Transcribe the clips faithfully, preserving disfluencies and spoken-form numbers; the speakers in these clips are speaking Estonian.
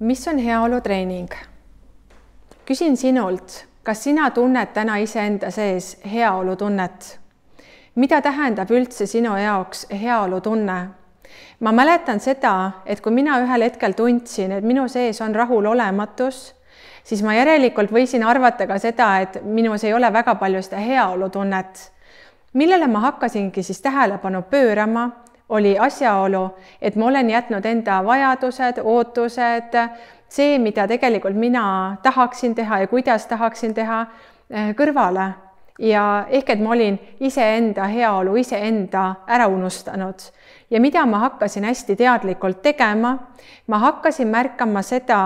Mis on heaolutreening? Küsin sinult, kas sina tunned täna iseenda sees heaolutunnet? Mida tähendab üldse sinu jaoks heaolutunne? Ma mäletan seda, et kui mina ühel hetkel tundsin, et minu sees on rahulolematus, siis ma järelikult võisin arvata ka seda, et minus ei ole väga palju seda heaolutunnet. Millele ma hakkasingi siis tähelepanu pöörama, oli asjaolu, et ma olen jätnud enda vajadused, ootused, see, mida tegelikult mina tahaksin teha ja kuidas tahaksin teha, kõrvale. Ja ehk, et ma olin iseenda heaolu, iseenda ära unustanud. Ja mida ma hakkasin hästi teadlikult tegema, ma hakkasin märkama seda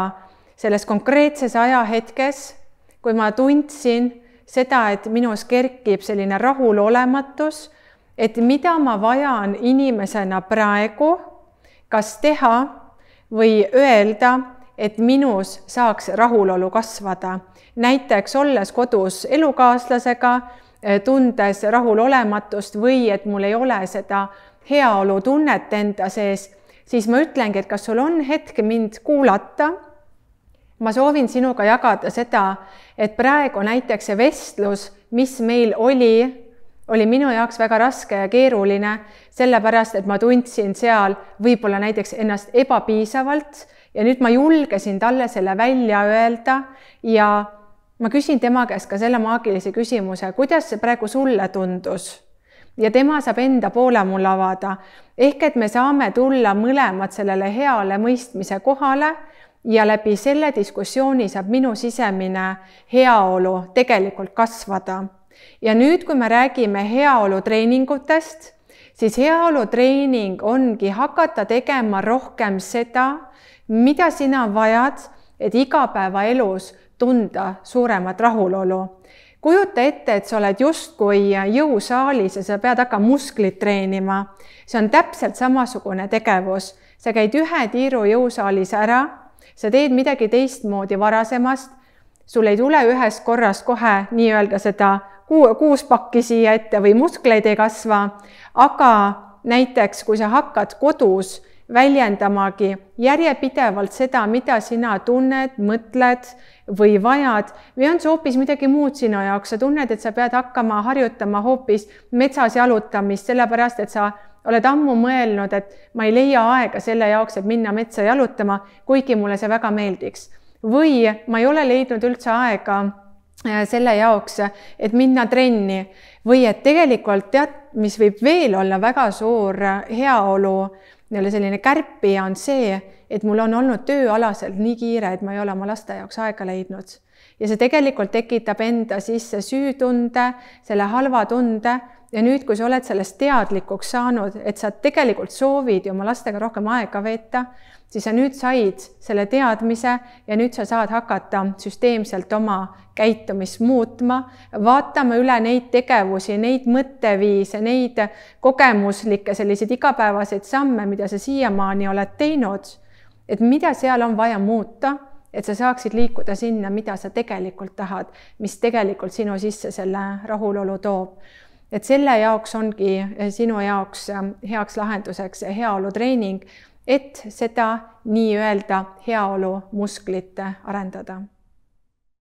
selles konkreetses ajahetkes, kui ma tundsin seda, et minus kerkib selline rahulolematus, et mida ma vajan inimesena praegu, kas teha või öelda, et minus saaks rahulolu kasvada. Näiteks olles kodus elukaaslasega, tundes rahulolematust või et mul ei ole seda heaolutunnet enda sees, siis ma ütlengi, et kas sul on hetk mind kuulata. Ma soovin sinuga jagada seda, et praegu näiteks see vestlus, mis meil oli, oli minu jaoks väga raske ja keeruline, sellepärast, et ma tundsin seal võib-olla näiteks ennast ebapiisavalt ja nüüd ma julgesin talle selle välja öelda ja ma küsin tema käest ka selle maagilise küsimuse, kuidas see praegu sulle tundus? Ja tema saab enda poole mul avada. Ehk, et me saame tulla mõlemad sellele heale mõistmise kohale ja läbi selle diskussiooni saab minu sisemine heaolu tegelikult kasvada. Ja nüüd, kui me räägime heaolutreeningutest, siis heaolutreening ongi hakata tegema rohkem seda, mida sina vajad, et igapäevaelus tunda suuremat rahulolu. Kujuta ette, et sa oled justkui jõusaalis ja sa pead hakkama musklit treenima. See on täpselt samasugune tegevus. Sa käid ühe tiiru jõusaalis ära, sa teed midagi teistmoodi varasemast, sul ei tule ühest korrast kohe nii-öelda seda kuus pakki siia ette või muskleid ei kasva, aga näiteks kui sa hakkad kodus väljendamagi järjepidevalt seda, mida sina tunned, mõtled või vajad, või on see hoopis midagi muud sinu jaoks, sa tunned, et sa pead hakkama harjutama hoopis metsas jalutamist, sellepärast, et sa oled ammu mõelnud, et ma ei leia aega selle jaoks, et minna metsa jalutama, kuigi mulle see väga meeldiks. Või ma ei ole leidnud üldse aega selle jaoks, et minna trenni või et tegelikult tead, mis võib veel olla väga suur heaolu, selline kärpija on see, et mul on olnud tööalaselt nii kiire, et ma ei ole oma laste jaoks aega leidnud. Ja see tegelikult tekitab enda sisse süütunde, selle halva tunde ja nüüd, kui sa oled sellest teadlikuks saanud, et sa tegelikult soovid oma lastega rohkem aega veeta, siis sa nüüd said selle teadmise ja nüüd sa saad hakata süsteemselt oma käitumist muutma, vaatama üle neid tegevusi, neid mõtteviise, neid kogemuslikke selliseid igapäevaseid samme, mida sa siiamaani oled teinud, et mida seal on vaja muuta, et sa saaksid liikuda sinna, mida sa tegelikult tahad, mis tegelikult sinu sisse selle rahulolu toob. Et selle jaoks ongi sinu jaoks heaks lahenduseks heaolutreening, et seda nii-öelda heaolu musklit arendada.